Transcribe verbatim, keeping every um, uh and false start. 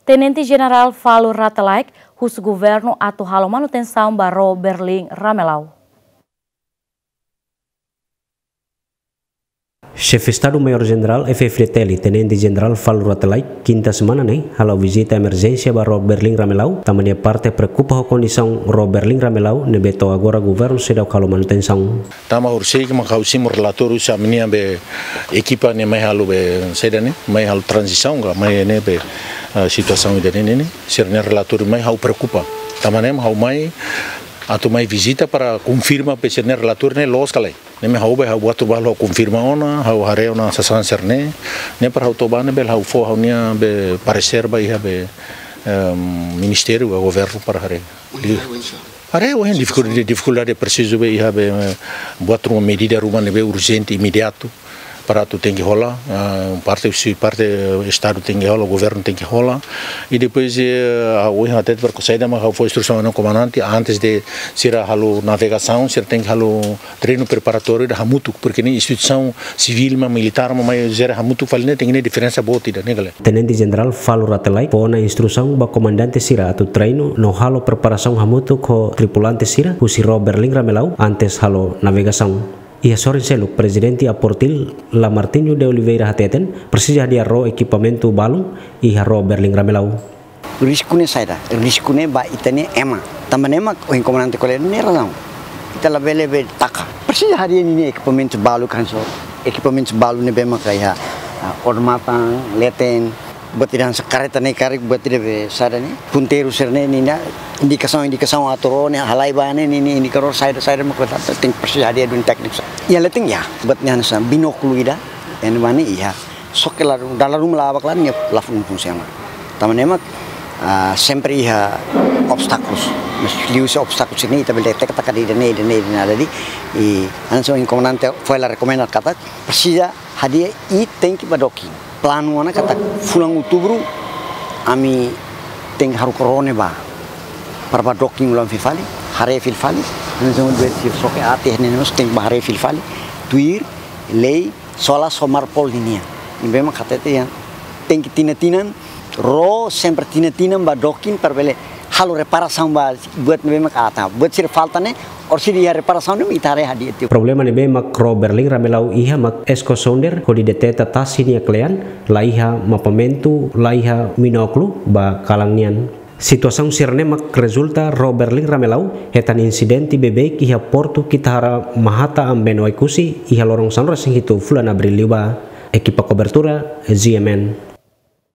Tenente Jenerál Falur Rate Laek husu governu atu halo manutensaun ba ró Berlin Ramelau. Xefe Estadu Maiór Jenerál F-FDTL, Tenente Jenerál Falur Rate Laek, kinta semana ne'e, hala'o vizita emerjénsia ba ró Berlin Ramelau, tanba nia parte preokupa ho kondisaun ró Berlin Ramelau, ne'ebé to'o agora governu seidauk halo manutensaun. Tanba horiseik mak ha'u simu relatóriu husi ami-nia be ekipa ne'e mai halo be saida ne'e, mai halo tranzisaun ka, mai ne'e be, eh, situasaun ida-ne'e ne'e, sira-nia relatóriu mai ha'u preokupa. Tanba ne'e ha'u mai, atu mai vizita para konfirma be sira-nia relatóriu ne'e loos ka lae. Ne'e mak ha'u be ha'u buat rubah ha'u konfirma ona, ha'u haree ona sasán sira-ne'e, ne'e para ha'u toba ne'e be ha'u fó ha'u-nia be paresér ba iha be, em, ministériu ka governu para haree. Haree ohin difikuldade, difikuldade presiza be iha be, eh, buat ruma medida ruma ne'ebé urjente, imediatu, para atu tenke hola, eh, parte husi parte, eh, Estadu tenke hola, governu tenke hola. I depois, eh, ha'u ohin hatete para saida mak ha'u fó instrusaun ona komandante, antes de sira halo navegasaun, sira tenke halo treinu preparatóriu ida hamutuk, porke ne'e instituisaun sivíl mak militár mak mai jere hamutuk fali ne'e, tenke iha diferensa boot ida ne'e ka lae. Tenente Jenerál Falur Rate Laek fó ona instrusaun ba komandante sira atu treinu no halo preparasaun hamutuk ho tripulante sira husi ró Berlin Ramelau antes halo navegasaun. Iha sorin seluk, Prezidente APORTIL, Lamartínio de Oliveira hateten, presiza hadi'a ró ekipamentu balun iha ró Berlin Ramelau. Risku ne'e saida, risku ne'e ba ita-nia ema. Tanba ne'e mak ohin komandante ko'alia ne'e razaun. Ita labele be taka. Presiza hadi'a ninia ekipamentu balu kan so. Ekipamentu balu ne'ebé maka iha, ah, odamatan, leten, buat ida hanesan kareta ne'e karik buat ida be saida ne'e. Punteiru sira-ne'e ninia indikasaun, indikasaun atu ró ne'e halai ba ne'e, ninia indikadór saida, saida maka tenke presiza hadi'a duni tékniku sira. Iha leten iha, buat ne'e hanesan binókulu ida, iha ne'ebá ne'e iha. Só ke la, dala ruma la aban klaru nia la fun funsiona. Tanba ne'e mak, ah, sempre iha obstákulus. Mas liuhusi obstákulus ne'e ita bele detekta katak ida-ne'e, ida-ne'e, ida-ne'e. Jadi, i hanesan ohin komandante foin la rekomenda katak presiza hadi'a i tenke ba doking. Planu ona katak fulan Outubru ami tenke haruka ró ne'e ba. Para ba doking ulang fila fali, haree fila fali. Hanesan ohin dehan sira só ke ati ne'e mós tenke ba haree fila fali. Tuir lei, solas ho Marpol ninia. Ne'ebé mak hatete iha tenke tinan-tinan, ró sempre tinan-tinan ba doking para bele halo reparasaun ba buat ne'ebé mak atan. Buat sira falta ne'e, orsida iha reparasaun ne'e mak ita haree hadi'a tiha. Problema ne'ebé mak ró Berlin Ramelau iha mak esko sonder hodi deteta tasi nia kle'an, la iha mapamentu, la iha binókulu ba kalan nian. Situasaun sira-ne'e mak rezulta ró Berlin Ramelau hetan insidente beibeik iha portu Kitahara Mahata Ambeno Oekusi iha loron sanulu-resin-hitu fulan Abríl liubá. Ekipa kobertura, G M N.